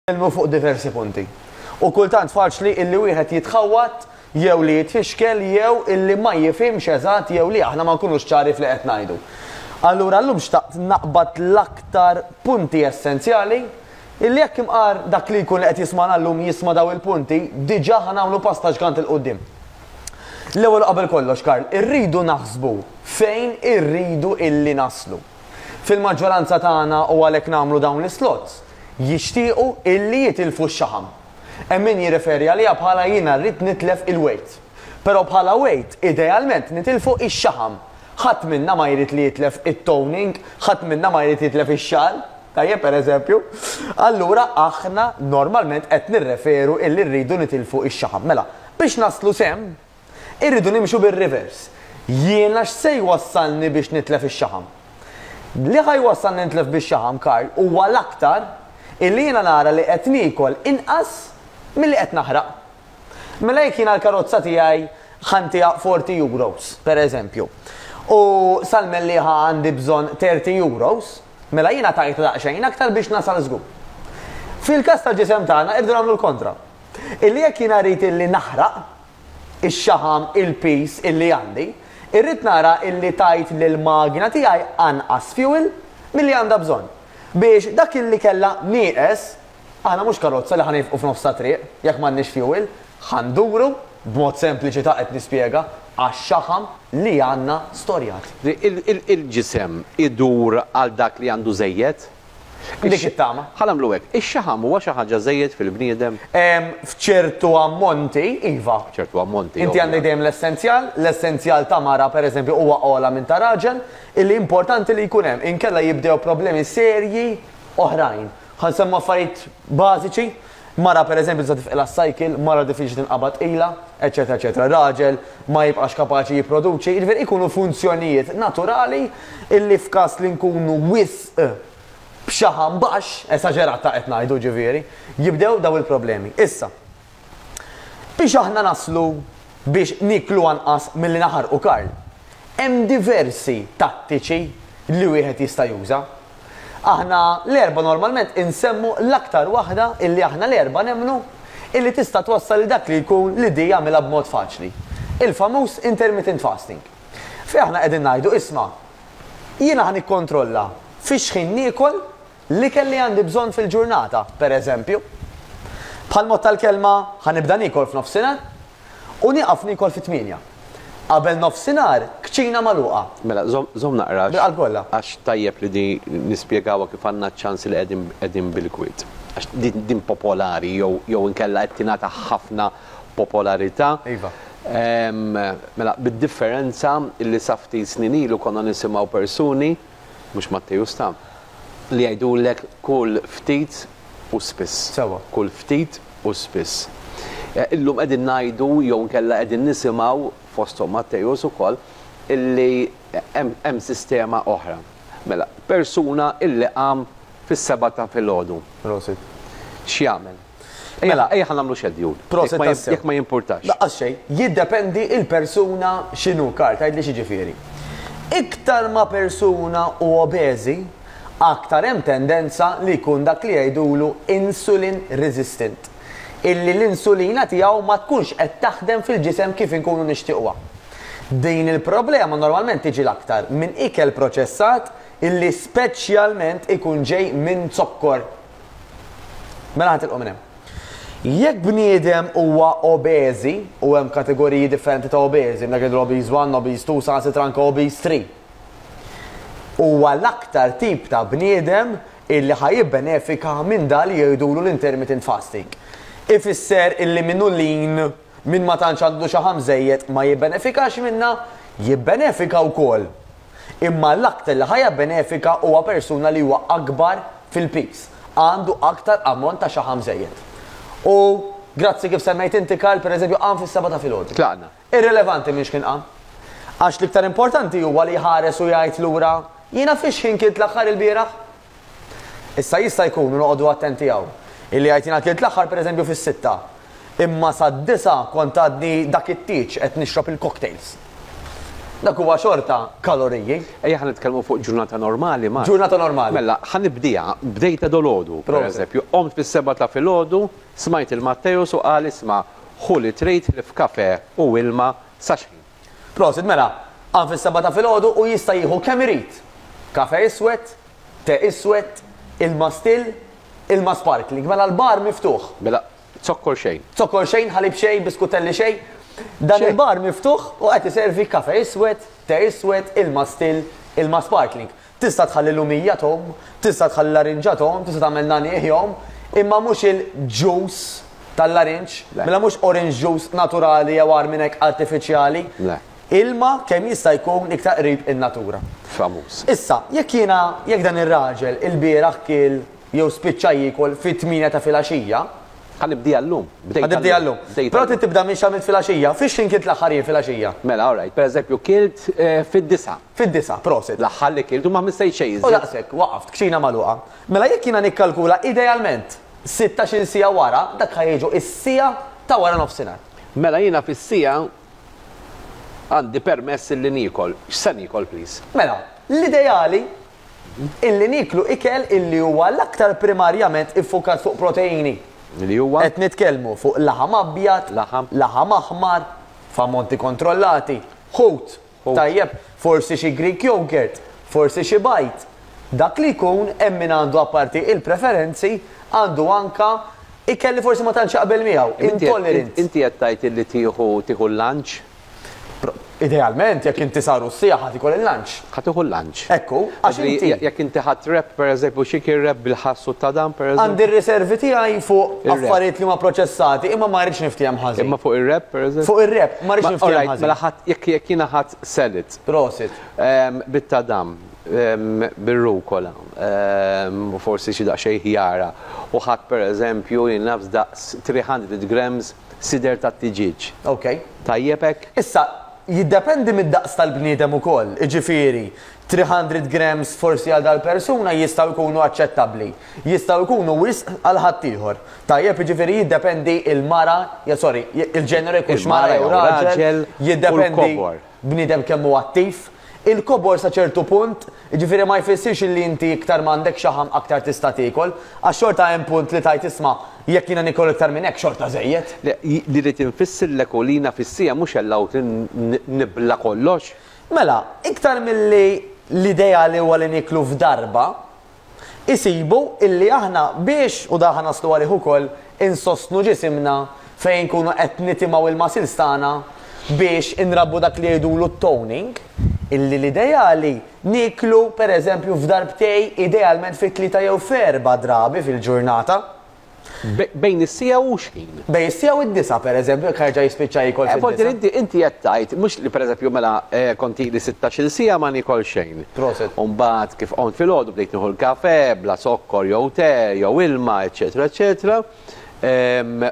Nitkellmu fuq diversi punti. U kultant faċli illi wieħed jitħawwad jew li jitfixkel jew illi ma jifhimx eżatt jew li aħna ma nkunux ċari f'li qed ngħidu. Allura llum xtaqt naqbad l-aktar punti essenzjali illi jekk imqar dak li jkun li qed jismagħna llum jisma' daw il-punti, diġà ħa nagħmlu pass ta' ġgant 'il quddiem. L-ewwel u qabel kollox, Karl, irridu naħsbu fejn irridu illi naslu. Fil-maġġoranza tagħna u għalhekk nagħmlu dawn l-islots, jixtiequ illi jitilfu x-xaħam. Hemm min jirreferi għaliha bħala jiena rrid nitlef il-weight. Però bħala weight, idealment nitilfu x-xaħam. Ħadd minna ma jrid li jitlef it-toning, ħadd minna ma jrid jitlef ix-xagħar, tajjeb pereżempju. Allura aħna normalment qed nirreferu illi rridu nitilfu x-xaħam. Mela, biex naslu s'hemm, Irridu nimxu bir-reverse. Jiena x'se jwassalni biex nitlef ix-xaħam? Li ħa jwassalni nitlef bix-xaħam, Karl, huwa l-aktar illi jiena nara li qed niekol inqas milli qed naħraq. Mela jekk jiena l-karozza tiegħi ħa ntiha 40 euros, per eżempju, u sal-Mellieħa għandi bżonn 30 euros, mela jiena tajtha daqsxejn aktar biex nasal żgur. Fil-każ tal-ġisem tagħna irridu nagħmlu l-kontra. Illi jekk jiena rrid illi naħraq, ix-xaħam, il-piż illi għandi, irrid nara illi tajt lill-magna tiegħi anqas fuel milli għandha bżonn. Biex dak illi kellha nieqes, aħna mhux karozza li ħa nifqu f'nofs ta' triq jekk m'għandniex fuel, ħa nduru, b'mod sempliċi ta' qed nispjega, għax-xaħam li għandna storjat. Il-ġisem idur għal dak li għandu żejjed? Dik it-tama. Ħa nagħmlu hekk. Ix-xaħam huwa xi ħaġa żejjed fil-bniedem? F'ċertu ammonti, iva. F'ċertu ammonti. Inti għandek dejjem l-essenzjal, l-essenzjal ta' mara pereżempju huwa ogħla minn ta' raġel, illi importanti li jkun hemm, inkella jibdew problemi serji oħrajn. Ħa nsemmu affarijiet bażiċi, mara pereżempju tista' tifqilha s-cycle, mara diffiċli tinqabad tqila, eċċetera eċċetera. Raġel ma jibqax kapaċi jipproduċi, jiġifieri ikunu funzjonijiet naturali illi f'każ li nkunu wisq b'xaħam baxx, esaġerat ta' qed ngħidu ġifieri, jibdew daw il-problemi. Issa, biex aħna naslu biex nieklu anqas milli naħarqu Karl, hemm diversi tattiċi li wieħed jista' juża. Aħna l-erba' normalment insemmu l-aktar waħda illi aħna l-erba' nemmnu illi tista' twassal lil dak li jkun li di jagħmilha b'mod faċli. Il-famuż intermittent fasting. Fejn aħna qegħdin ngħidu isma' Jiena ħa nikkontrolla fi x'ħin niekol l-ikel li għandi bżonn fil-ġurnata, per eżempju. Bħall-mod tal-kelma ħa nibda niekol f'nofsinhar u nieqaf niekol fit-tmienja. Qabel nofsinhar, kċina magħluqa. Mela, żomm, żomm naqra għax. Bil-qalb kollha. Għax tajjeb li di nispjegawha kif għandna ċ-ċans li qegħdin, qegħdin bil-kwiet. Għax din, din popolari jew, jew inkella qed tingħata ħafna popolarità. Iva. Mela, bid-differenza li sa ftit snin ilu konna nisimgħu persuni, mhux Matteus ta, li jgħidulek kull ftit u spiss. Sewwa. Kull ftit u spiss. Illum qegħdin ngħidu jew inkella qegħdin nisimgħu, fosthom Matteus ukoll, illi hemm sistema oħra. Mela, persuna illi qam fis-sebgħa ta' filgħodu. Prosit. X'jagħmel? Mela, ejja ħa nagħmlu schedule. Proset tassew. Jekk ma jimpurtax. Laqqas xejn. Jiddependi il-persuna x'inhu, Karl, tgħidli x'jiġifieri. Iktar ma persuna hu obeżi, aktar hemm tendenza li jkun dak li jgħidulu insulin resistant. Illi l-insulina tiegħu ma tkunx qed taħdem fil-ġisem kif inkunu nixtiequha. Din il-problema normalment tiġi l-aktar minn ikel proċessat illi speċjalment ikun ġej minn zokkor. Mela ħa tilqu minn hemm. Jekk bniedem huwa obeżi, u hemm kategoriji differenti ta' obeżi, dak jgħidu obese 1, obese 2, saħansitra anke obese 3. Huwa l-aktar tip ta' bniedem illi ħa jibbenefika minn da li jgħidulu l-intermittent fasting. Ifisser illi min hu lean, min ma tantx għandu xaħam żejjed ma jibbenefikax minnha, jibbenefika wkoll. Imma l-aktar li ħa jabbenefika huwa persuna li huwa akbar fil-piż, għandu aktar ammont ta' xaħam żejjed. U grazzi kif semmejt inti Karl, pereżempju qam fis-sebgħa ta' filgħodu. Tlaqna. Irrilevanti minn x'kien qam. Għax l-iktar importanti huwa li jħares u jgħid lura, jiena fi x'ħin kilt l-aħħar ilbieraħ? Issa jista' jkun, u noqogħdu attenti hawn, illi jgħid jiena kilt l-aħħar pereżempju fis-sitta, imma sad-disgħa kont għadni dak it-tieġ qed nixrob il-cocktails. Dak huwa xorta kaloriji. Ejja ħa nitkellmu fuq ġurnata normali, Mark. Ġurnata normali. Mela, ħa nibdiha, bdejtha dolodu, per eżempju, qomt fis-sebgħa ta' filgħodu, smajt il Matteus u qal isma' ħu li trid ħlief kafè u ilma sa x'ħin. Prosit, mela, qam fis-sebgħa ta' filgħodu u jista' jieħu kemm irid. Kafè iswed, te iswed, ilma still, ilma sparkling. Mela l-bar miftuħ. Mela, Zokkor xejn. Zokkor xejn, ħalib xejn, biskutelli xejn. Dan il-bar miftuħ u qed iservi kafe iswed, te iswed, ilma still, ilma sparkling. Tista' tħalli lumija tgħum, tista' tħalli larinġa tgħum, tista' tagħmel nagħniegħ jgħum, imma mhux il-juice tal-larinġ, mela mhux orange juice naturali jew agħar minn hekk artifiċjali. Ilma kemm jista' jkun iktar qrib in-natura. Famuż. Issa, jekk jiena, jekk dan ir-raġel ilbieraħ kiel jew spiċċa jiekol fit-tmienja ta' filgħaxija. Ħa nibdiha llum. Ħa nibdiha llum. Però trid tibda minn x'għamilt filgħaxija. Fiex x'ħin kilt l-aħħar jien filgħaxija? Mela, all right. Pereżempju, kilt fid-disgħa. Fid-disgħa, prosit. L-aħħar li kilt u ma missejt xejn iżjed. U daqshekk, waqaft, kċina magħluqa. Mela jekk jiena nikkalkula idealment sittax-il siegħa wara, dak ħa jiġu s-siegħa ta' wara nofsinhar. Mela jiena fis-siegħa għandi permess illi niekol. X'se niekol please? Mela, l-ideali Illi nieklu ikel illi huwa l-aktar primarjament iffukat fuq proteini. Li huwa? Qed nitkellmu fuq laħam abjad, Laħam. laħam aħmar, f'ammonti kontrollati, ħut, Ħut. tajjeb, forsi xi Greek yoghurt, forsi xi bajd. Dak li jkun hemm min għandu apparti il-preferenzi, għandu anka ikel li forsi ma tantx jaqbel miegħu, intolerant. Inti qed tgħid illi tieħu tieħu l-lunch? Idealment, jekk inti saru s-siegħa ħa tiekol il-lunch. Ħa tieħu l-lunch. Ekku, għax inti. Jekk inti ħadt wrap, pereżempju, xi kien wrap bil-ħass u t-tadam, pereżempju. Għandi r-riservi tiegħi fuq affarijiet li huma proċessati, imma ma rridx niftiehem ħażin. Imma fuq ir-wrap, pereżempju? Fuq ir-wrap, ma rridx niftiehem ħażin. Mela ħadt, jekk jiena ħadt salad. Prosit. Bit-tadam, bir-rukola, u forsi xi daqsxejn ħjara, u ħadt pereżempju, jien naf daqs 300 grams Sider tat-tiġieġ. Ok. Tajjeb hekk? Issa, jiddependi mid-daqs tal-bniedem ukoll, jiġifieri, 300 grams forsi għal dal-persuna jistgħu jkunu aċċettabbli. Jistgħu jkunu wisq għal ħaddieħor. Tajjeb, jiġifieri jiddependi l-mara, sorry, il-ġeneru jekk hux mara jew raġel, jiddependi bniedem kemm hu attiv. Il-kobor sa ċertu punt, jiġifieri ma jfissirx illi inti iktar m'għandek xaħam aktar tista' tiekol, għax xorta hemm punt li tgħid isma' jekk jiena niekol iktar minn hekk xorta żejjed. Le, li rrid infissirlek hu li jiena fis-siegħa mhux allowed li nibla' kollox. Mela, iktar milli l-ideali huwa li nieklu f'darba, Isibu illi aħna biex, u dan ħa naslu għalih ukoll, insostnu ġisimna fejn inkunu qed nitimgħu il-muscles tagħna biex inrabbu dak li jgħidulu t-toning, illi l-ideali nieklu per eżempju f'darbtej idealment fi tlieta jew f'erba' drabi fil-ġurnata. Bejn is-siegħa u x'ħin? Bejn is-siegħa u d-disgħa, pereżempju, jekk ħa jerġa' jispiċċa jiekol fid-disgħa. Forsi inti inti qed tgħid mhux li pereżempju mela kont ili sittax-il siegħa ma niekol xejn. Proset. U mbagħad kif qomt filgħodu bdejt nieħu l-kafè bla zokkor jew te jew ilma eċċetera eċċetera.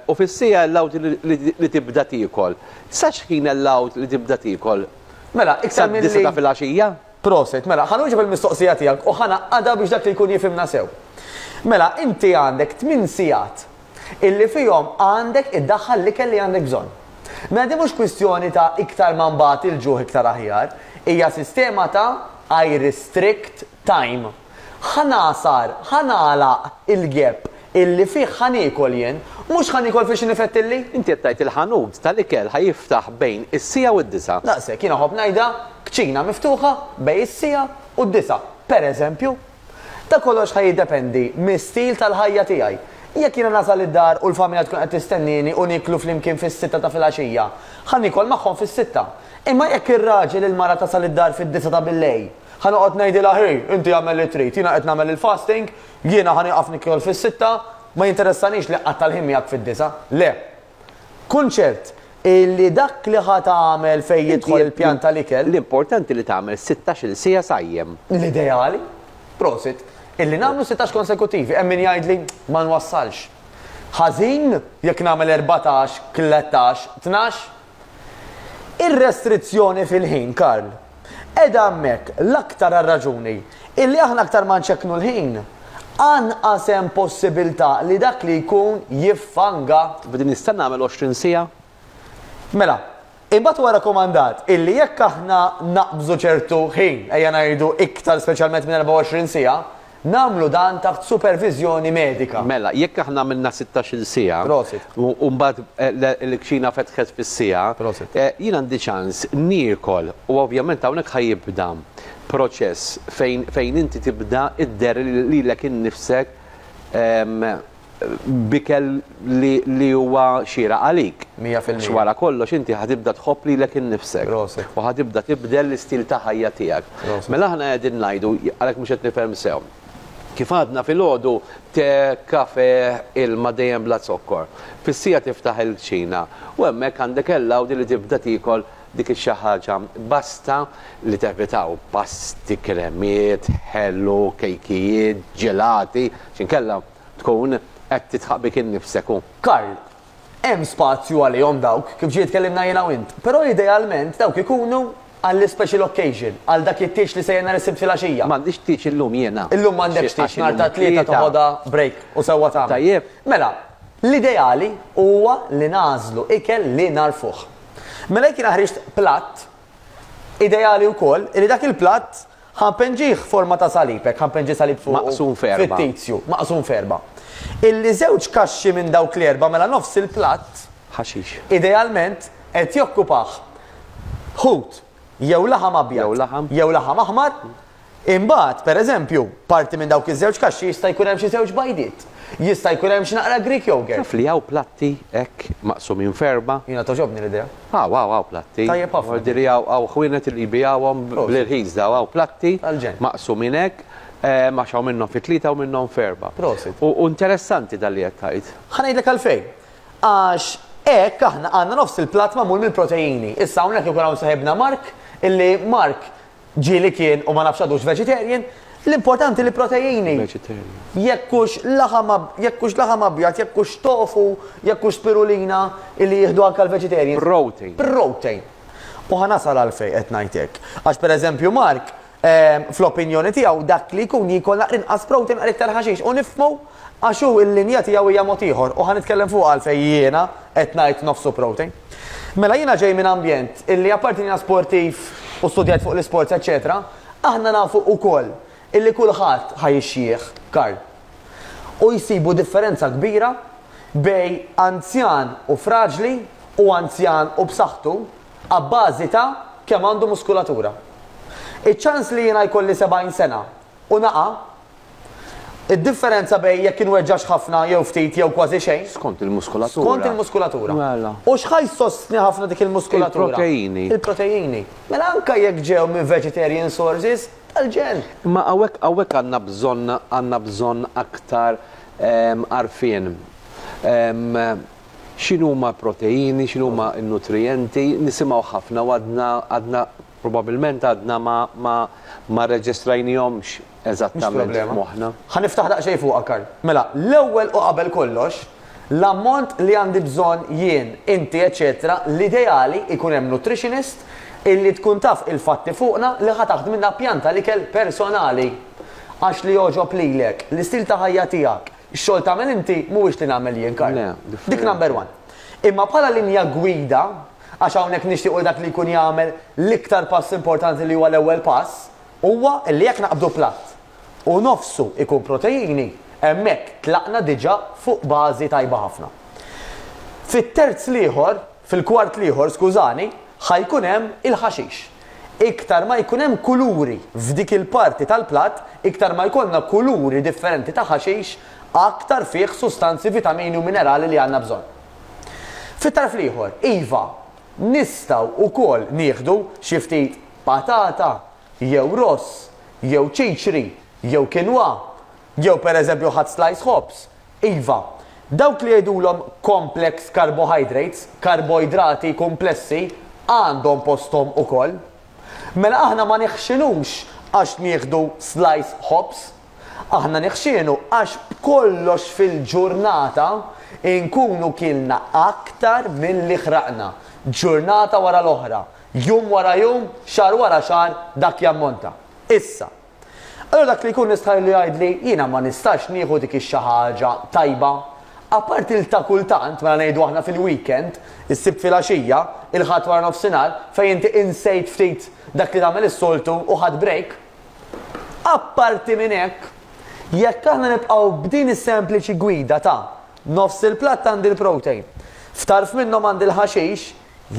U fis-siegħa allowed li tibda tiekol. Sa x'ħin allowed li tibda tiekol? Mela, iktar milli. Sad-disgħa ta' filgħaxija? Proset, mela, ħa nwieġeb il-mistoqsija tiegħek u ħa ngħaqqadha biex dak li jkun jifhimna sew. Mela, inti għandek tminn sigħat illi fihom għandek iddaħħal l-ikel li għandek bżonn. Mela din mhux kwistjoni ta' iktar ma nbati l-ġuħ iktar aħjar, hija sistema ta' I restrict time. Ħa nagħsar, ħa nagħlaq il-gap illi fih ħa niekol jien, mhux ħa niekol fiex inifettilli. Inti qed tgħid il-ħanut tal-ikel ħa jiftaħ bejn is-siegħa u d-disgħa. Daqshekk, jiena nħobb ngħidha, kċina miftuħa bejn is-siegħa u d-disgħa, per eżempju. Da kollox ħa jiddependi mis-stil tal-ħajja tiegħi. Jekk jiena nasal id-dar u l-familja tkun qed tistennieni u nieklu flimkien fis-sitta ta' filgħaxija, ħa niekol magħhom fis-sitta. Imma jekk ir-raġel, il-mara tasal id-dar fid-disgħa ta' billejl, ħa noqgħod ngħidilha ħi, inti agħmel li trid, jiena qed nagħmel il-fasting, Jiena ħa nieqaf nikol fis-sitta, ma jinteressanix li nqatta' l-ħin miegħek fid-disgħa. Le. Kun ċert illi dak li ħa tagħmel fejn jidħol il-pjan tal-ikel. L-importanti li tagħmel sittax-il siegħa sajjem. L-ideali, prosit, illi nagħmlu sittax konsekuttivi. Hemm min jgħidli ma nwassalx. Ħażin jekk nagħmel 14, 13, 12? Ir-restrizzjoni fil-ħin, Karl, qiegħda hemmhekk l-aktar għar-raġuni illi aħna aktar ma nċekknu l-ħin, anqas hemm possibilità li dak li jkun jiffanga. B'din nista' nagħmel 20 siegħa? Mela, Imbagħad huwa rakkomandat illi jekk aħna naqbżu ċertu ħin, ejja ngħidu iktar speċjalment minn 24 siegħa, nagħmlu dan taħt superviżjoni medika. Mela, jekk aħna għamilna sittax-il siegħa, Prosit. u mbagħad l-kċina fetħet fis-siegħa, Prosit. jien għandi ċans niekol u ovvjament hawnhekk ħa jibda proċess fejn fejn inti tibda idderri lilek innifsek b'ikel li li huwa xieraq għalik. 100%. Għax wara kollox inti ħa tibda tħobb lilek innifsek. Prosit. U ħa tibda tibdel l-istil ta' ħajja tiegħek. Prosit. Mela aħna qegħdin ngħidu, għalhekk mhux qed nifhem sew. Kif għadna filgħodu te, kafe, ilma dejjem bla zokkor. Fis-siegħa tiftaħ il-kċina u hemmhekk għandek allowed li tibda tiekol dik ix-xi ħaġa. Basta li tevitaw pasti, kremiet, ħelu, kejkijiet, ġelati, x'inkella tkun qed tidħaq bik innifsek u. Karl, hemm spazju għalihom dawk, kif ġie tkellimna jiena u int, però idealment dawk ikunu għall-special occasion, għal dak it-tieġ li sejjer nhar is-Sibt filgħaxija. M'għandix tieġ illum jiena. Illum m'għandekx tieġ, nhar ta' Tlieta toħodha break u sewwa tagħmel. Tajjeb. Mela, l-ideali huwa li nagħżlu ikel li nagħrfuh. Mela jekk jiena ħriġt platt, ideali wkoll li dak il-platt ħa npenġih forma ta' salib, hekk ħa npenġi salib fuqu. Maqsum f'erba'. Fittizju, maqsum f'erba'. Illi żewġ kaxxi minn dawk l-erba' mela nofs il-platt. Ħaxix. Idealment qed jokkupah ħut jew laħam abjad. Jew laħam. Jew laħam aħmar. Imbagħad, per eżempju, parti minn dawk iż-żewġ kaxxi jista' jkun hemm xi żewġ bajdiet. Jista' jkun hemm xi naqra Greek yogurt. Taf li hawn platti hekk maqsumin f'erbgħa? Jiena togħġobni l-idea. Hawn, hawn, hawn platti. Tajjeb ħafna. Vuol hawn hawn ħwienet li jbigħuhom bl-irħis daw hawn platti Tal-ġenn. maqsumin hekk għax hawn minnhom fi tlieta u minnhom f'erbgħa. Prosit. U interessanti dan li qed tgħid. Ħa ngħidlek għalfejn. Għax hekk aħna għandna nofs il-platt magħmul mill-proteini. Issa hawnhekk ikun hawn saħibna Mark illi Mark Ġieli kien u ma nafx għadux vegetarian, l-importanti li proteini. Vegetarian. Jekk hux laħam jekk hux laħam abjad, jekk hux tofu, jekk hux spirulina illi jieħdu anke l-vegetarians. Protein. Protein. U ħa nasal għalfejn qed ngħid hekk. Għax pereżempju Mark, fl-opinjoni tiegħu dak li jkun jiekol naqra inqas protein naqra iktar ħaxix u nifhmu għax hu l-linja tiegħu hija mod ieħor u ħa nitkellem fuqha għalfejn jiena qed ngħid nofsu protein. Mela jiena ġej minn ambjent illi apparti li jiena sportiv u studjajt fuq l-isports eċċetera, aħna nafu ukoll illi kulħadd ħa jixjieħ, Karl. U jsibu differenza kbira bejn anzjan u fraġli u anzjan u b'saħħtu abbażi ta' kemm għandu muskulatura. Iċ-ċans li jiena jkolli 70 sena u naqa', id-differenza bejn jekk inweġġax ħafna jew ftit jew kważi xejn. Skont il-muskulatura. Skont il-muskulatura. Mela. U x'ħa jsostni ħafna dik il-muskulatura? Il-proteini. Il-proteini. Mela anke jekk ġew minn vegetarian sources, tal-ġenn. Imma hawnhekk hawnhekk għandna bżonn għandna bżonn aktar għarfien. X'inhuma l-proteini, x'inhuma n-nutrijenti, nisimgħu ħafna u għadna għadna probabbilment għadna ma ma ma rreġistrajnihomx eżattament f'moħħna. Ħa niftaħ daqsxejn fuqha, Karl. Mela, l-ewwel u qabel kollox, l-ammont li għandi bżonn jien, inti eċċetera, l-ideali jkun hemm nutritionist illi tkun taf il-fatti fuqna li ħa taħdmilna pjan tal-ikel personali. Għax li jogħġob lilek, l-istil ta' ħajja tiegħek, Ix-xogħol tagħmel inti mhuwiex li nagħmel jien, Karl. Le, differenti. Dik number one. Imma bħala linja gwida, għax hawnhekk nixtiequ li dak li jkun jagħmel l-iktar pass importanti li huwa l-ewwel pass, huwa li jekk naqbdu platt u nofsu jkun proteini, hemmhekk tlaqna diġà fuq bażi tajba ħafna. Fit-terz l-ieħor, fil-kwart l-ieħor, skużani, ħa jkun hemm il-ħaxix. Iktar ma jkun hemm kuluri f'dik il-parti tal-platt, iktar ma jkollna kuluri differenti ta' ħaxix, aktar fih sustanzi, vitamini u minerali li għandna bżonn. Fit-tarf l-ieħor, iva, nistgħu wkoll nieħdu xi ftit patata, jew ross, jew ċiċri, jew quinoa, jew pereżempju ħadt slice ħobż, Iva, dawk li jgħidulhom complex carbohydrates, karboidrati kumplessi, għandhom posthom ukoll. Mela aħna ma neħxinux għax nieħdu slice ħobż. Aħna neħxienu għax b'kollox fil-ġurnata inkunu kilna aktar milli ħraqna, ġurnata wara l-oħra, jum wara jum, xahar wara xahar dak jammonta. Issa, Allura dak li jkun nistħajlu jgħidli jiena ma nistax nieħu dik ix-xi ħaġa tajba. Apparti l ta' kultant, mela ngħidu aħna fil-weekend, is-Sibt filgħaxija, il-Ħadd wara nofsinhar, fejn inti insejt ftit dak li tagħmel is-soltu u ħadt break. Apparti minn hekk, jekk aħna nibqgħu b'din is-sempliċi gwida ta' nofs il-platt għandi l-protein, f'tarf minnhom għandi l-ħaxix,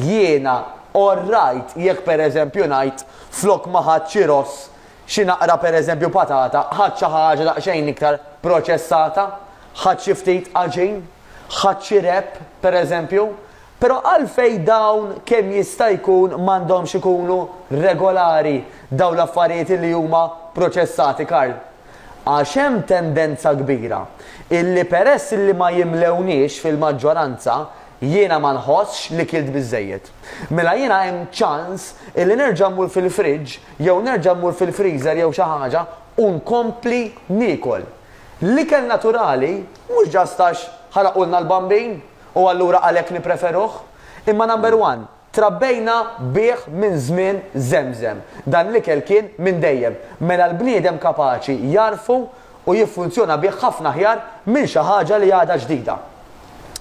jiena orrajt jekk pereżempju ngħid flok ma ħadt xi ross Xi naqra pereżempju patata, ħadt xi ħaġa daqsxejn iktar proċessata, ħadt xi ftit għaġin, ħadt xi wrap pereżempju. Però għalfejn dawn kemm jista' jkun m'għandhomx ikunu regolari dawn l-affarijiet illi huma proċessati Karl? Għax hemm tendenza kbira illi peress illi ma jimlewniex fil-maġġoranza Jiena ma nħossx li kilt biżżejjed. Mela jiena hemm ċans illi nerġa' mmur fil-fridge jew nerġa' mmur fil-freezer jew xi ħaġa u nkompli niekol. L-ikel naturali mhux just għax ħaraqulna l-bambin u allura għalhekk nippreferuh, imma number one, trabbejna bih minn żmien żemżem. Dan l-ikel kien minn dejjem. Mela l-bniedem kapaċi jagħrfu u jiffunzjona bih ħafna aħjar minn xi ħaġa li għadha ġdida.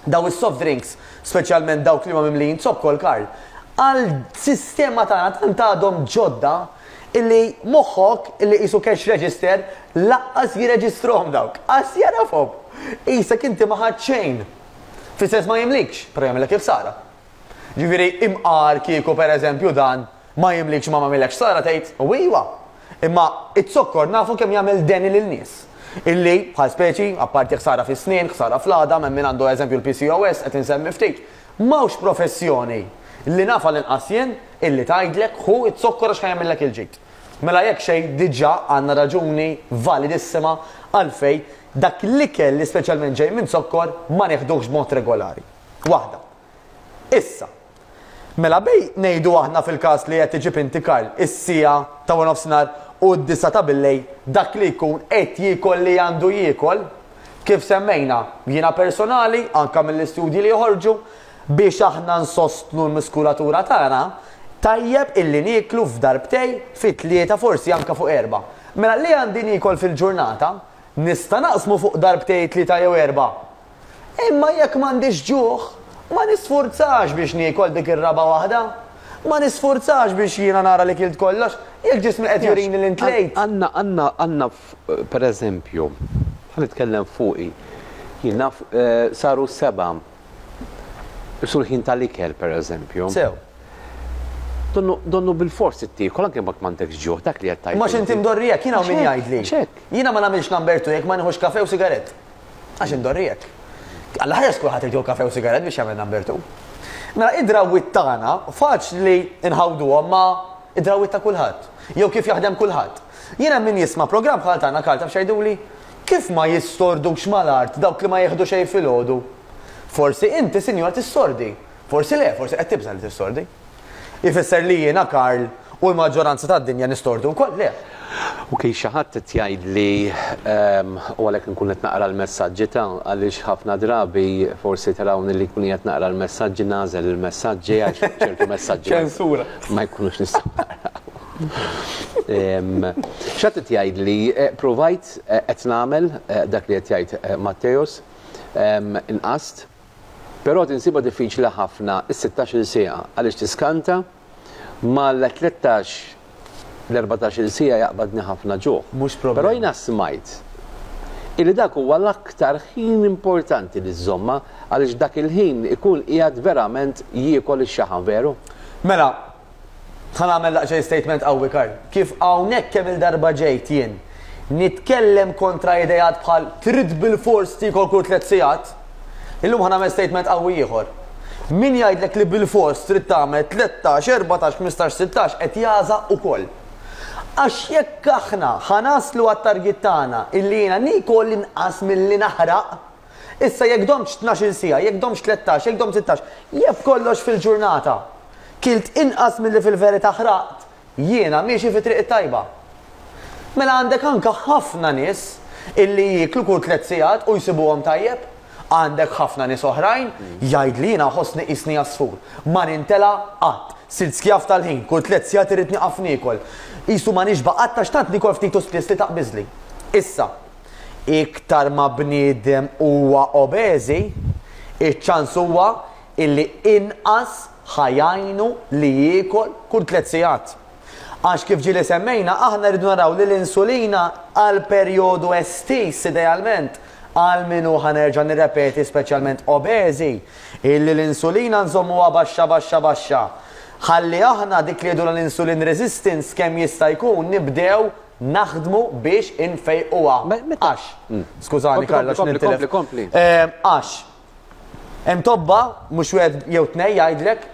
Dawn is-soft drinks, speċjalment dawk li huma mimlijin zokkor, Karl, għal sistema tagħna tant għadhom ġodda illi moħħok illi qisu cash register laqqas jirreġistrahom dawk. Qas jagħrafhom. Qisek inti ma ħadt xejn. Fis-sens ma jimlikx, però jagħmillek il-ħsara. Ġifieri imqar kieku pereżempju dan ma jimlikx ma m'għamillekx ħsara tgħid u iwa. Imma iz-zokkor nafu kemm jagħmel deni lil nies. Illi, bħal speċi, apparti ħsara fis-snien, ħsara fl-għadam, hemm min għandu eżempju l-PCOS, qed insemmi ftit. M'hawnx professjoni li naf għall-inqas jien illi tgħidlek ħu z-zokkor għax ħa jagħmillek il-ġid. Mela jekk xejn diġà għandna raġuni validissima għalfejn dak l-ikel li speċjalment ġej minn zokkor ma nieħduhx b'mod regolari. Waħda. Issa, mela bej ngħidu aħna fil-każ li qed iġib inti Karl, is-siegħa ta' waranofsinhar u d-disgħa ta' billejl dak li jkun qed jiekol li għandu jiekol, kif semmejna, jiena personali, anke mill-istudji li joħorġu, biex aħna nsostnu l-muskulatura tagħna, tajjeb illi nieklu f'darbtejn, fi tlieta, forsi anke fuq erbgħa. Mela li għandi niekol fil-ġurnata, nista' naqsmu fuq darbtejn, tlieta jew erbgħa. Imma jekk m'għandix ġuħ, ma nisfurzax biex niekol dik ir-raba' waħda. Ma nisfurzax biex jiena nara li kilt kollox, jekk ġismi qed jurini li ntlejt. Għandna, għandna, għandna per eżempju, ħa nitkellem fuqi, jien naf saru s-sebgħa, sul ħin tal-ikel per eżempju. Sew. Donnu, donnu bilfors trid tiekol anke jekk m'għandekx ġuħ, dak li qed tgħid. Imma x'inti mdorri hekk, jien hawn min jgħidli. Jiena ma nagħmilx number two jekk ma nieħux kafè u sigarett. Għax indorri hekk. Alla ħares kulħadd irid jieħu kafe u sigarett biex jagħmel number 2. Mela id-drawwiet tagħna faċli nħawduhom ma' id-drawwiet ta' kulħadd. Jew kif jaħdem kulħadd. Jien hemm min jisma' programm bħal tagħna Karl taf x'jgħiduli? Kif ma jistordux mal-art dawk li ma jieħdu xejn filgħodu? Forsi inti sinjura tissordi. Forsi le, forsi qed tibża' li tissordi. Ifisser li jiena, Karl, u l-maġġoranza tad-dinja nistordu wkoll? Le. U kien xi ħadd qed jgħidli, u għalhekk inkun qed naqra l-messaġġi ta' għaliex ħafna drabi forsi tarawni li nkun qiegħed naqra l-messaġġi nagħżel il-messaġġi għax ċertu messaġġi Ċensura. ma jkunux nistgħu naqraw. Xi ħadd qed jgħidli, provajt qed nagħmel dak li qed jgħid Matteus, inqast, Però tinsibha diffiċli ħafna s-sittax-il siegħa għaliex tiskanta mal-tlettax l-erbatax-il siegħa jaqbadni ħafna ġuħ. Mhux problema. Però jiena smajt illi dak huwa l-aktar ħin importanti li żżommha għaliex dak il-ħin ikun qiegħed verament jiekol ix-xaħam, veru? Mela, Ħa nagħmel daqsxejn statement qawwi Karl. Kif hawnhekk kemm-il darba ġejt jien nitkellem kontra ideat bħal trid bilfors tiekol kull tlett sigħat, illum ħa nagħmel statement qawwi ieħor. Min jgħidlek li bilfors trid tagħmel 13, 14, 15, 16 qed jagħżaq ukoll. Għax jekk aħna ħa naslu għat-target tagħna illi jiena niekol inqas milli naħraq, Issa jekk domtx tnax-il siegħa, jekk domtx 13, jekk domt 16, jekk b'kollox fil-ġurnata kilt inqas milli fil-verità ħraqt, jiena miexi fit-triq it-tajba. Mela għandek anke ħafna nies illi jieklu kull tlett sigħat u jsibuhom tajjeb. Għandek ħafna nies oħrajn jgħidli jiena nħossni qisni għasfur. Ma nintela' qatt. Sirt skjav tal-ħin, kull tlett sigħat irrid nieqaf niekol. Qisu ma nixba' qatt għax tant niekol ftit u spiss li taqbiżli. Issa. Iktar ma bniedem huwa obeżi, iċ-ċans huwa illi inqas ħa jgħinu li jiekol kull tlett sigħat. Għax kif ġieli semmejna, aħna rridu naraw li l-insulina għal perjodu estiż idealment, għal min hu ħa nerġa' nirrepeti speċjalment obeżi, illi l-insulina nżommuha baxxa baxxa baxxa. Ħalli aħna dik li jgħidulha l-insulin resistance kemm jista' jkun nibdew naħdmu biex infejquha. Għax, skużani Karl għax nintilef. Għax, hemm tobba mhux wieħed jew tnejn jgħidlek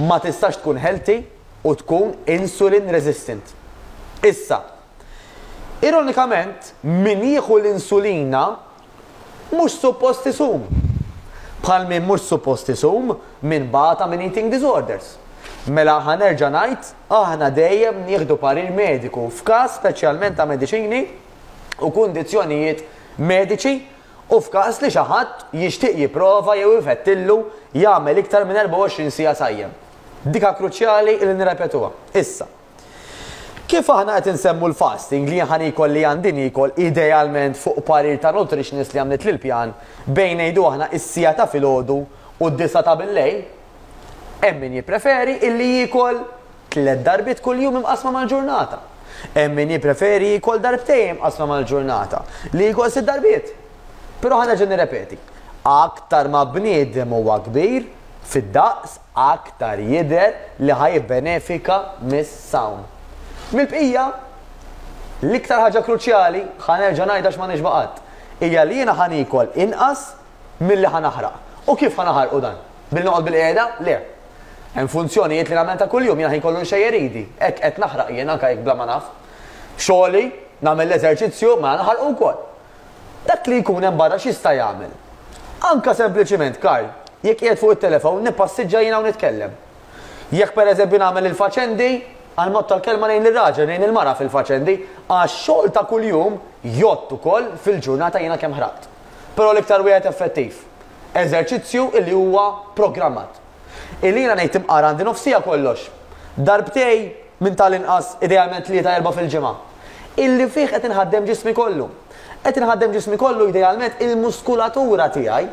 ma tistax tkun healthy u tkun insulin resistant. Issa, ironikament, min jieħu l-insulina mhux suppost isum. Bħal min mhux suppost isum min bata minn eating disorders. Mela ħa nerġa' ngħid, aħna dejjem nieħdu parir mediku f'każ speċjalment ta' mediċini u kundizzjonijiet mediċi u f'każ li xi ħadd jixtieq jipprova jew ifettillu jagħmel iktar minn 24 siegħa sajjem. Dika kruċjali li nirrepetuha. Issa, kif aħna qed insemmu l-fasting li ħa niekol li għandi niekol idealment fuq parir ta' nutritionist li għamlitli l-pjan bejn ngħidu aħna is-siegħa ta' filgħodu u d-disgħa ta' billejl, hemm min jippreferi illi jiekol tlett darbiet kuljum imqassma mal-ġurnata. Hemm min jippreferi jiekol darbtejn imqassma mal-ġurnata, li jiekol sitt darbiet. Però ħa nerġa' nirrepeti, aktar ma bniedem huwa kbir fid-daqs aktar jidher li ħa jibbenefika mis-sawm. Mill-bqija, l-iktar ħaġa kruċjali, ħa nerġa' ngħidha għax ma nixba' qatt, hija li jiena ħa niekol inqas milli ħa naħraq. U kif ħa naħarqu dan? Billi noqgħod bilqiegħda? Le. Hemm funzjonijiet li nagħmel ta' kuljum, jiena ħin kollu nxejjer idi. Hekk qed naħraq jien anke jekk bla ma naf. Xogħli, nagħmel l-eżerċizzju, mela naħarqu wkoll. Dak li jkun hemm barra x'jista' jagħmel? Anke sempliċiment, Karl, jekk qiegħed fuq it-telefon nippassiġġa jiena u nitkellem. Jekk pereżempju nagħmel il-faċendi, għall-mod tal-kelma ngħin lir-raġel, ngħin il-mara fil-faċendi, għax xogħol ta' kuljum jgħodd ukoll fil-ġurnata jiena kemm ħraqt. Però l-iktar wieħed effettiv, eżerċizzju illi huwa programmat. Illi jiena ngħid imqar għandi nofs siegħa kollox. Darbtej minn tal-inqas idealment tlieta erbgħa fil-ġimgħa. Illi fih qed inħaddem ġismi kollu. Qed inħaddem ġismi kollu idealment il-muskulatura tiegħi.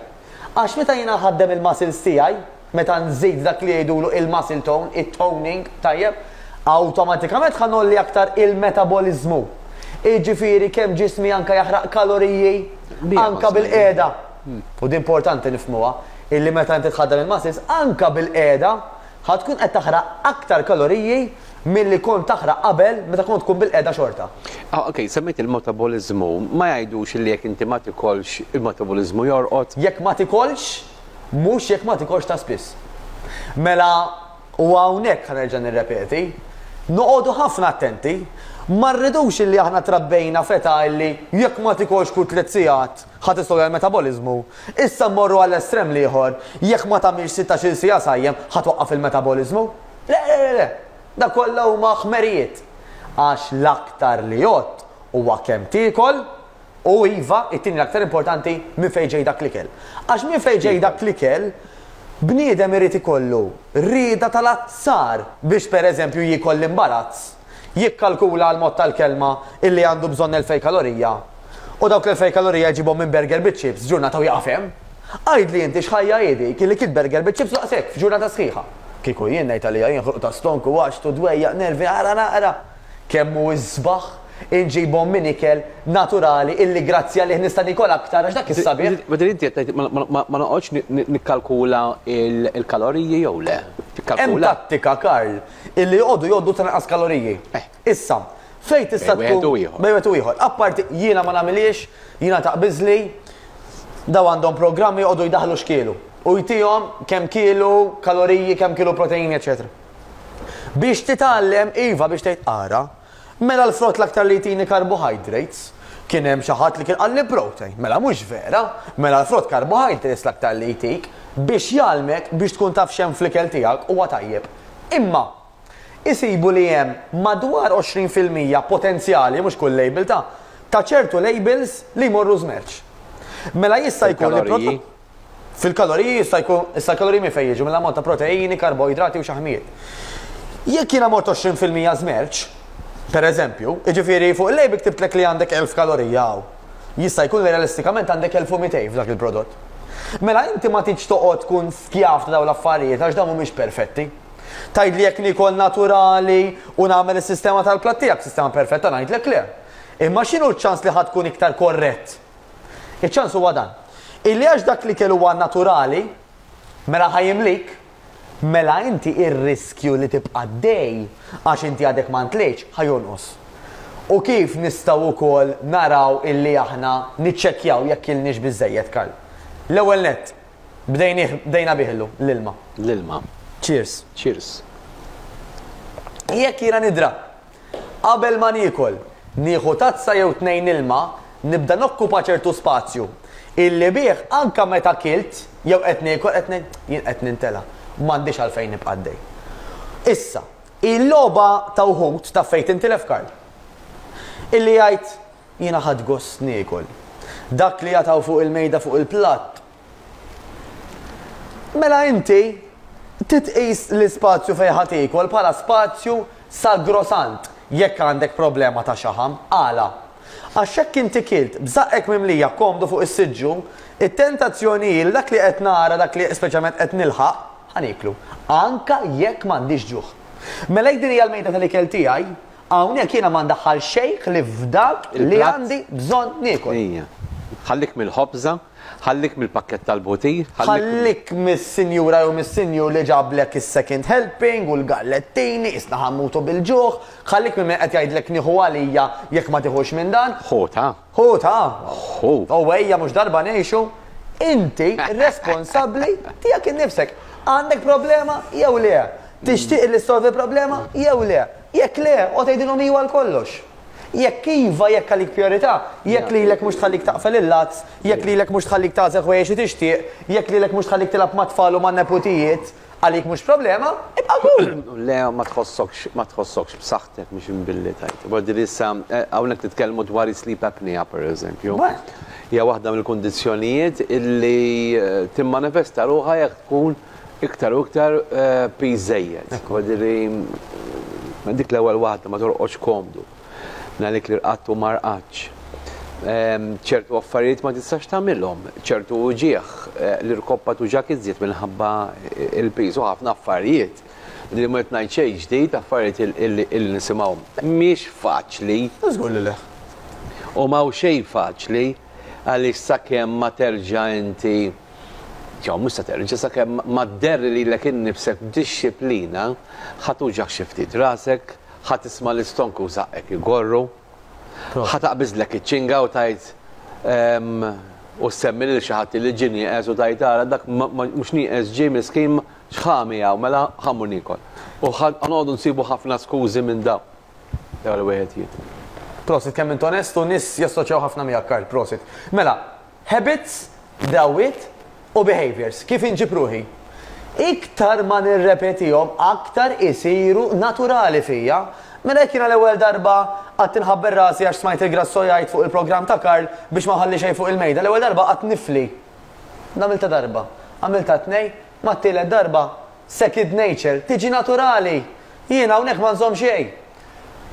Għax meta jiena nħaddem il-muscles tiegħi, meta nżid dak li jgħidulu il-muscle tone, it-toning, tajjeb, awtomatikament ħa ngħolli aktar il-metaboliżmu. Jiġifieri kemm ġismi anke jaħraq kaloriji anke bil-qiegħda. U din importanti nifhmuha, illi meta inti tħaddem il-muscles anke bil-qiegħda ħa tkun qed taħraq aktar kaloriji milli kont taħraq qabel meta kont tkun bilqiegħda xorta. Ah, ok, semmejt il-metaboliżmu, ma jgħidux li jekk inti ma tikolx il-metaboliżmu jorqod? Jekk ma tikolx, mhux jekk ma tikolx ta' spiss. Mela, u hawnhekk ħa nerġa' nirrepeti, noqogħdu ħafna attenti, ma rridux illi aħna trabbejna f'età illi jekk ma tikolx kull tliet sigħat, Ħa tistolja l-metaboliżmu. Issa mmorru għall-estrem l-ieħor, jekk ma tagħmilx sittax-il siegħa sajjem, ħa twaqqaf il-metaboliżmu? Le, le, le, le! Dak kollha huma ħmerijiet. Għax l-aktar li jgħodd huwa kemm tiekol u iva, it-tieni l-aktar importanti, minn fejn ġej dak l-ikel. Għax minn fejn ġej dak l-ikel, bniedem irid ikollu rieda tal-azzar biex pereżempju jiekol l-imbarazz, jikkalkula għall-mod tal-kelma illi għandu bżonn 2000 kalorija u dawk l-2000 kalorija jġibhom minn burger biċ-chips ġurnata u jieqaf hemm. Għidli inti x'ħajja hi dik illi kilt burger biċ-chips u daqshekk f'ġurnata sħiħa. Kieku jien ngħid għalija jien ħruq ta' stonku, għaxtu, dwejjaq, nervi, ara naqra kemm hu isbaħ inġibhom minn ikel naturali illi grazzi għalih nista' niekol aktar għax dak is-sabiħ. Ma din inti qed tgħid ma noqgħodx nikkalkula l-kaloriji jew le? Hemm tattika Karl illi joqogħdu jgħoddu tal-inqas kaloriji. Issa, fejn tista' tkun. Bejn wieħed u ieħor. Bejn wieħed u ieħor. Apparti jiena ma nagħmilhiex, jiena taqbiżli, daw għandhom programmi joqogħdu jdaħħlu x'kielu. U jtihom kemm kielu kaloriji, kemm kielu proteini, eċetera. Biex titgħallem, iva biex tgħid ara, mela l-frott l-aktar li jtini carbohydrates, kien hemm xi ħadd li kien qalli protein. Mela mhux vera, mela l-frott carbohydrates l-aktar li jtik biex jgħallmek biex tkun taf x'hemm fl-ikel tiegħek huwa tajjeb. Imma isibu li hemm madwar 20% potenzjali, mhux kull label ta', ta' ċertu labels li jmorru żmerċ. Mela jista' jkun li prodott. Fil-kaloriji jista' jkun, issa l-kaloriji minn fejn jiġu? Mill-ammont ta' proteini, karboidrati u xaħmijiet. Jekk jiena mort 20% żmerċ, per eżempju, jiġifieri fuq il-label ktibtlek li għandek 1000 kalorija hawn. Jista' jkun li realistikament għandek 1200 f'dak il-prodott. Mela inti ma tridx toqgħod tkun skjav ta' dawn l-affarijiet għax dawn mhumiex perfetti. Tgħidli jekk niekol naturali u nagħmel is-sistema tal-platt tiegħek, sistema perfetta ngħidlek le. Imma x'inhu ċ-ċans li ħa tkun iktar korrett? Iċ-ċans huwa dan. Illi għax dak l-ikel huwa naturali, mela ħa jimlik, mela inti ir-riskju li tibqa' għaddej għax inti għadek ma ntlejtx ħa jonqos. U kif nistgħu wkoll naraw illi aħna niċċekkjaw jekk ilniex biżżejjed, Karl? L-ewwel nett, bdejnih, bdejna bih illum, l-ilma. L-ilma. Cheers. Cheers. Jekk jiena nidra Qabel ma niekol, nieħu tazza jew tnejn ilma, nibda nokkupa ċertu spazju, illi bih anke meta kilt jew qed niekol qed ngħid, jien qed nintela', m'għandix għalfejn nibqa' għaddej. Issa, il-logħba ta' wħud taf fejn tintilef Karl? Illi jgħid, jiena ħadt gost niekol. Dak li jagħtaw fuq il-mejda fuq il-platt, Mela inti titqis l-ispazju fejn ħa tiekol bħala spazju sagrosant jekk għandek problema ta' xaħam. Għala? Għax jekk inti kilt b'żaqqek mimlija komdu fuq is-siġġu, it-tentazzjoni hi li dak li qed nara, dak li speċjalment qed nilħaq, ħa nieklu. Anke jekk m'għandix ġuħ. Mela jekk din hija l-mejda tal-ikel tiegħi, Hawnhekk jiena ma ndaħħal xejn ħlief f'dak li għandi bżonn niekol. Ejja. Ħallik mill-ħobża, ħallik mill-pakkett tal-butir, ħallik. Ħallik mis-sinjura jew mis-sinjur li ġablek is-second helping u l-gallettini, qisna ħa mmutu bil-ġuħ, ħallik minn min qed jgħidlek nieħu għalija jekk ma tiħux minn dan. Ħu ta. Ħu ta. Ħu. U ejja mhux darba ngħixu. Inti responsabbli tiegħek innifsek. Għandek problema jew le? Tixtieq li ssolvi problema jew le? Jekk le, oqgħod għidilhom iva għal kollox. Jekk iva, jekk għalik prijorità, jekk lilek mhux tħallik taqfel il-lazz, jekk lilek mhux tħallik tagħżel ħwejjeġ li tixtieq, jekk lilek mhux tħallik tilgħab mat-tfal u man-neputijiet, għalik mhux problema, ibqa' kul! Le, ma tħossokx, ma tħossokx b'saħħtek mhux imbilli tgħid. Vuol dire issa hawnhekk nitkellmu dwar is-sleep apnea pereżempju. Hija waħda mill-kundizzjonijiet illi timmanifesta ruħha jekk tkun Iktar u iktar piż żejjed. Vuol dik l-ewwel waħda ma torqodx komdu. Minn li rqadt u ma rqadx. Ċertu affarijiet ma tistax tagħmilhom, ċertu uġigħ, l-irkoppa tuġgħek iżjed minħabba l-piż u ħafna affarijiet li ma qed ngħid xejn ġdid, affarijiet illi nisimgħuhom. Mhix faċli. Żgur li le. U m'hawn xejn faċli għaliex sakemm ma terġa' inti Jew mhux se terġa' sakemm ma dderri lilek innifsek b'dixxiplina, ħa tuġgħek xi ftit rasek, ħa tisma' l-istonku u żaqqek igorru, ħa taqbiżlek iċ-ċinga u tgħid u ssemmi lil xi ħadd li ġie nieqes u tgħid ara dak mhux nieqes ġie miskin x'ħa miegħu mela ħa mmur niekol. U ħa noqogħdu nsibu ħafna skużi minn dawn. L-ewwel wieħed jien. Prosit kemm int onest u nies jassoċjaw ħafna miegħek Karl, prosit. Mela, Habits, drawwiet, u behaviors, kif inġib ruħi. Iktar ma nirrepetihom aktar isiru naturali fija. Mela jekk jiena l-ewwel darba qgħadt inħabbel rasi għax smajt il-Grasso jgħid fuq il-programm ta' Karl biex ma nħalli xejn fuq il-mejda, l-ewwel darba qgħadt nifli. Għamiltha darba, għamiltha tnejn, mat-tielet darba second nature, tiġi naturali. Jien hawnhekk ma nżomm xejn.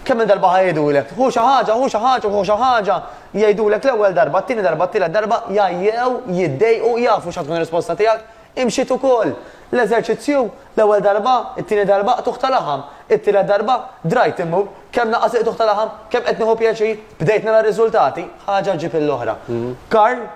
Kemm-il darba ħa jgħidulek, ħu xi ħaġa, ħu xi ħaġa, ħu xi ħaġa, jgħidulek l-ewwel darba, t-tieni darba, t-tielet darba, jgħajjew, jiddejqu, jafu x'ħa tkun ir-risposta tiegħek, imxiet ukoll. L-eżerċizzju, l-ewwel darba, it-tieni darba, qtugħ ta' laħam, it-tielet darba, drajt immur, kemm naqas il-qtugħ ta' laħam, kemm qed nieħu pjaċir, bdejt nara r-riżultati, ħaġa ġġib lill-oħra. Karl?